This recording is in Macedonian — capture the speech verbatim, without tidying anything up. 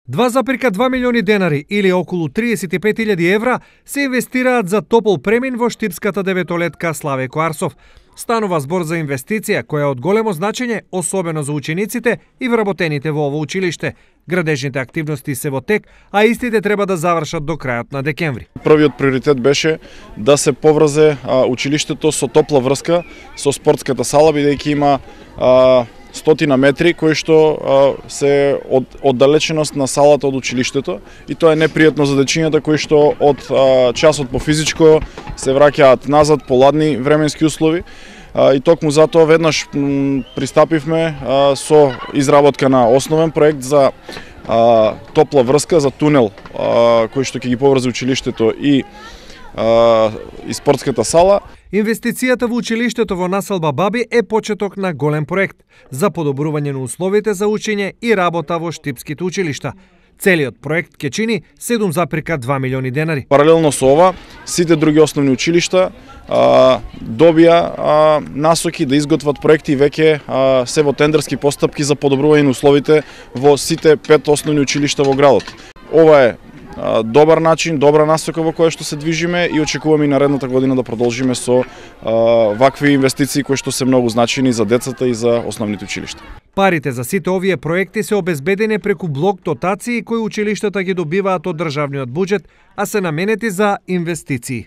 два запирка два милиони денари или околу триесет и пет илјади евра се инвестираат за топол премин во штипската деветолетка Славе Коарсов. Станува збор за инвестиција која е од големо значење, особено за учениците и вработените во ово училиште. Градежните активности се во тек, а истите треба да завршат до крајот на декември. Првиот приоритет беше да се поврзе а, училиштето со топла врска со спортската сала, бидејќи има а, стотина метри кои што а, се од оддалеченост на салата од училиштето, и тоа е непријатно за дечињата кои што од а, часот по физичко се враќаат назад по ладни временски услови. А, и токму затоа веднаш м, пристапивме а, со изработка на основен проект за а, топла врска, за тунел а, кој што ќе ги поврзе училиштето и а, и спортската сала. Инвестицијата во училиштето во населба Баби е почеток на голем проект за подобрување на условите за учење и работа во штипските училишта. Целиот проект ќе чини седум запирка два милиони денари. Паралелно со ова, сите други основни училишта а, добија а, насоки да изготват проекти и веќе а, се во тендерски постапки за подобрување на условите во сите пет основни училишта во градот. Ова е а, добар начин, добра насока во која што се движиме и очекуваме и наредната година да продолжиме со а, вакви инвестиции кои што се многу значени за децата и за основните училишта. Парите за сите овие проекти се обезбедени преку блок дотации кои училиштата ги добиваат од државниот буџет, а се наменети за инвестиции.